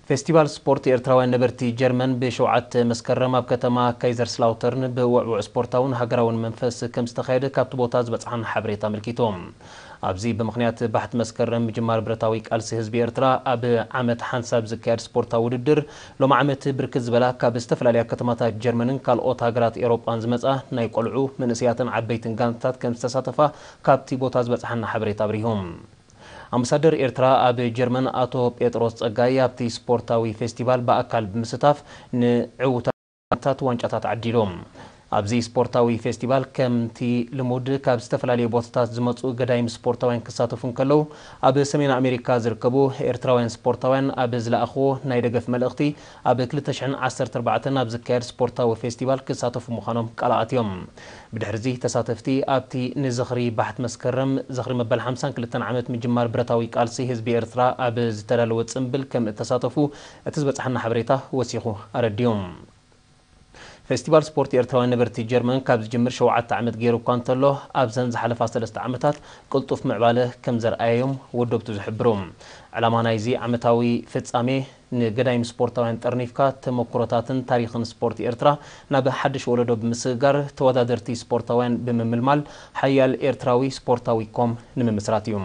ፌስቲቫል ስፖርት ኤርትራውያን ነበርቲ ጀርመን ብሸውዓተ መስከረም ኣብ ከተማ ካይዘርስላውተርን ብውዕውዕ ስፖርታውን ሃገራውን መንፈስ ከም ዝተኻየደ ካብቲ ቦታ ዝበጽሓና ሓበሬታ ኣመልኪቱ። ኣብዚ ብምኽንያት ባሕቲ መስከረም ምጅማር ብረታዊ ቃልሲ ህዝቢ ኤርትራ ኣብ ዓመት ሓንሳብ ዝካየድ ስፖርታዊ ውድድር ሎም ዓመት ብርክት ዝበላ ካብ ዝተፈላለያ ከተማታት ጀርመንን ካልኦት ሃገራት ኤሮጳን ዝመጻ ናይ ቆልዑ፣ መንእሰያትን ዓበይትን ጋንታት ከም ዝተሳተፋ ካብቲ ቦታ ዝበጽሓና ሓበሬታ ኣብሪሁ። ኣምባሳደር ኤርትራ ኣብ ጀርመን ኣቶ ጴጥሮስ ጸጋይ ኣብቲ ስፖርታዊ ፌስቲቫል ብኣካል ብምስታፍ ንዕውታት ዋንጫታት ዓዲሉ። ኣብዚ ስፖርታዊ ፌስቲቫል ከምቲ ልሙድ ካብ ዝተፈላለዩ ቦታታት ዝመጹ ገዳይም ስፖርታውያን ክሳተፉ እንከለዉ፣ ኣብ ሰሜን ኣሜሪካ ዝርከቡ ኤርትራውያን ስፖርታውያን ኣብ ዝለኣኽዎ ናይ ደገፍ መልእኽቲ ኣብ ክልተ ሽሕን ዓሰርተ ኣርባዕተን ኣብ ዝካየድ ስፖርታዊ ፌስቲቫል ክሳተፉ ምዃኖም ቃል ኣትዮም። ብድሕርዚ ተሳተፍቲ ኣብቲ ንዝኽሪ ባሕቲ መስከረም ዝኽሪ መበል ሓምሳን ክልተን ዓመት ምጅማር ብረታዊ ቃልሲ ህዝቢ ኤርትራ ኣብ ዝተዳለወ ጽምብል ከም እተሳተፉ እቲ ዝበጽሓና ሓበሬታ ወሲኹ ኣረዲኡ። ፌስቲቫል ስፖርት ኤርትራውያን ነበርቲ ጀርመን ካብ ዝጅምር ሸውዓተ ዓመት ገይሩ እኳ እንተሎ፣ ኣብዘን ዝሓለፋ ሰለስተ ዓመታት ቅልጡፍ ምዕባለ ከም ዘርኣየዮም ወደብቱ ዝሕብሩ። ዕላማ ናይዚ ዓመታዊ ፍጻሜ ንገዳይም ስፖርታውያን ጠርኒፍካ ተመኩሮታትን ታሪኽን ስፖርት ኤርትራ ናብ ሓድሽ ወለዶ ብምስግጋር ተወዳደርቲ ስፖርታውያን ብምምልማል ሓያል ኤርትራዊ ስፖርታዊ ኮም ንምምስራት እዩ።